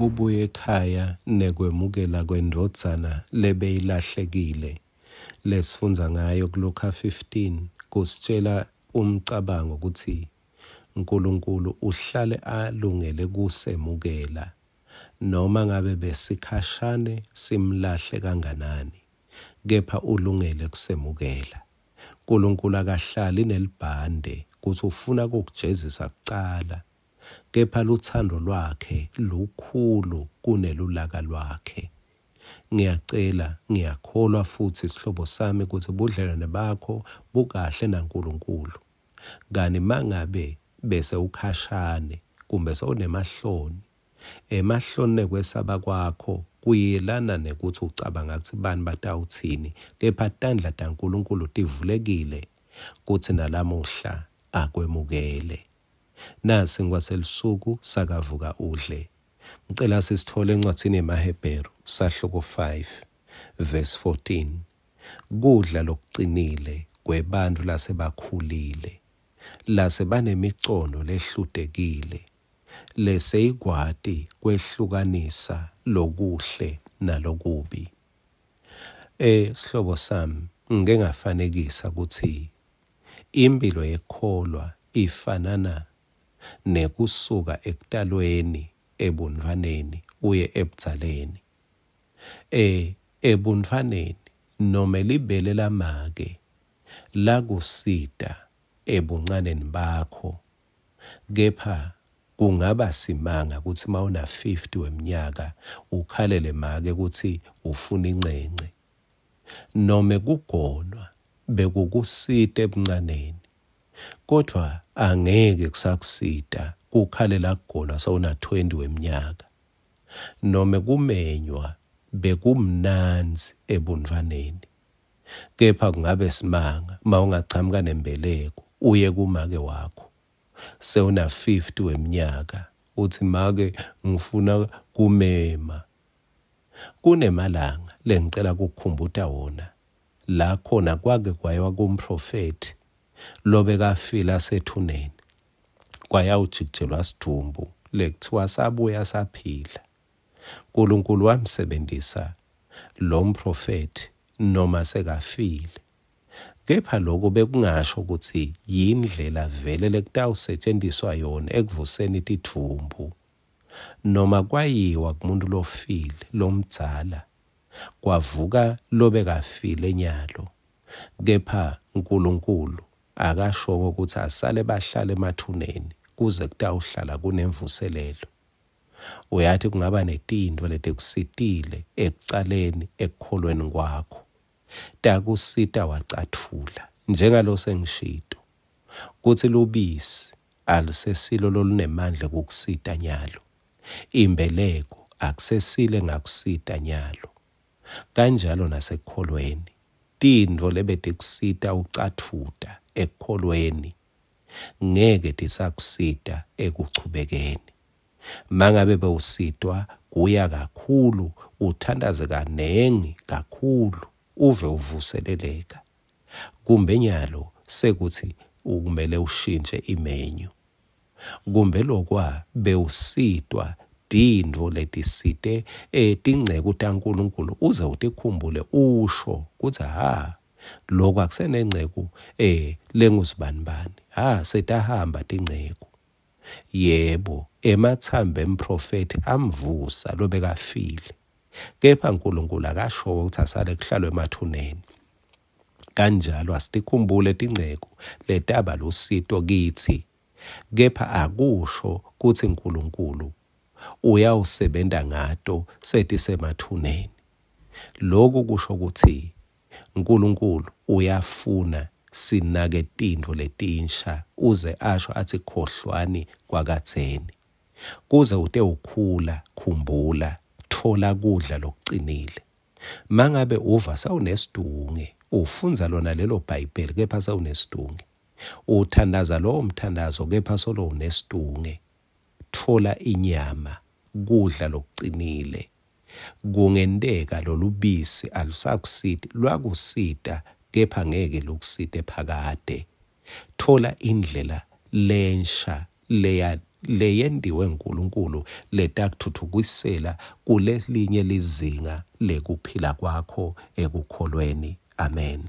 Kubuya ekhaya nekwemukela kwendvodzana lebeyilahlekile lesifundza ngayo kuLukha 15 kusitjela umcabango kutsi Nkulunkulu uhlale alungele kusemukela noma ngabe besikhashane simlahle kanganani, kepha ulungele kusemukela. Nkulunkulu akahlali nelibhande kutsi ufuna kukujezisa kucala, kepha lutsandvo lwakhe lukhulu kunelulaka lwakhe. Ngiyacela, ngiyakholwa futsi sihlobo sami kutsi budlelwane bakho bukahle naNkulunkulu. Kani mangabe bese ukhashane kumbe sewunemahloni, emahloni nekwesaba kwakho kuyelana nekutsi ucabanga kutsi bani batawutsini, kepha tandla taNkulunkulu tivulekile kutsi nalamuhla akwemukele. Nasi ngwaselusuku sakavuka udle. Ngicela sisitfole encwadzini yemaHebheru sahluko 5 verse 14. Kudla lokucinile kwebantfu lasebakhulile, lasebanemicondo lehlutekile, leseyikwati kwehlukanisa lokuhle nalokubi. Sihlobo sami, ngike ngafanekisa kutsi imphilo yekukholwa ifanana nekusuka ekutalweni ebuntfwaneni uye ebudzaleni. Ebuntfwaneni nome libele lamake lakusita ebuncaneni bakho, kepha kungaba simanga kutsi mawuna 50 weminyaka ukhalele make kutsi ufuna incence. Nome kugonwa bekukusita ebuncaneni, kodvwa angeke kusakusita kukhalela kugonwa sewuna 20 weminyaka. Nome kumenywa bekumnandzi ebuntfwaneni, kepha kungabe simanga mawungachamuka nembeleko uye kumake wakho sewuna 50 weminyaka uthi make ngifuna kumema. Kunemalanga lengicela kukukhumbuta wona la khona kwake kwayiwa kumprofethi lobekafile asethuneni, kwayawujikijelwa sidvumbu lekuthiwa sabuya saphila. Nkulunkulu wamsebentisa lo mprofethi noma sekafile, kepha lokho bekungasho kutsi yindlela vele lekutawusetjentiswa yona ekuvuseni tidvumbu. Noma kwayiwa kumuntu lofile lomdzala, kwavuka lobekafile nyalo, kepha Nkulunkulu akashongo kutsi asale bahlale emathuneni kuze kutawuhlala kunemvuselelo. Uyati kungaba netintfo letikusitile ekucaleni ekukholweni kwakho, takusita wacathula, njengalo sengishito kutsi lubisi alusesilo lolunemandla kukusita nyalo, imbeleko akusesile ngakusita nyalo. Kanjalo nasekukholweni, tintfo lebetikusita ucatfuta ekukholweni ngeke tisakusita ekuchubekeni. Mangabe bewusitwa kuya kakhulu, uthandaze kanengi kakhulu, uve uvuseleleka, kumbe nyalo sekuthi ukumele ushintshe imenyu, kumbe lokwa bewusitwa tintfo letisite tingceku taNkulunkulu uze utikhumbule usho kutsi ha lokhu akusenengceku lengusibanibani, ha setahamba tingceku. Yebo, emathambo emprofethi amvusa lobekafile, kepha Nkulunkulu akasho ukuthi asale kuhlalwe emathuneni. Kanjalo asitikhumbule tingceku letaba lusito kitsi, kepha akusho kutsi Nkulunkulu uyawusebenta ngato setisemathuneni. Lokhu kusho kutsi Nkulunkulu uyafuna sinake tintfo letinsha uze asho athi khohlwani kwakadzeni. Kuze utewukhula, khumbula, thola kudla lokucinile. Mangabe uva sewunesidunge, ufundza lona lelo Bhayibheli kepha sewunesidunge, uthandaza lowo mthandazo kepha solo unesidunge, thola inyama, kudla lokucinile. Kungenteka lolubisi alusakusiti, lwakusita kepha ngeke lukusite phakade. Thola indlela lensha leya leyentiwe nguNkulunkulu letakuthuthukisela kulelinye lizinga lekuphila kwakho ekukholweni. Amen.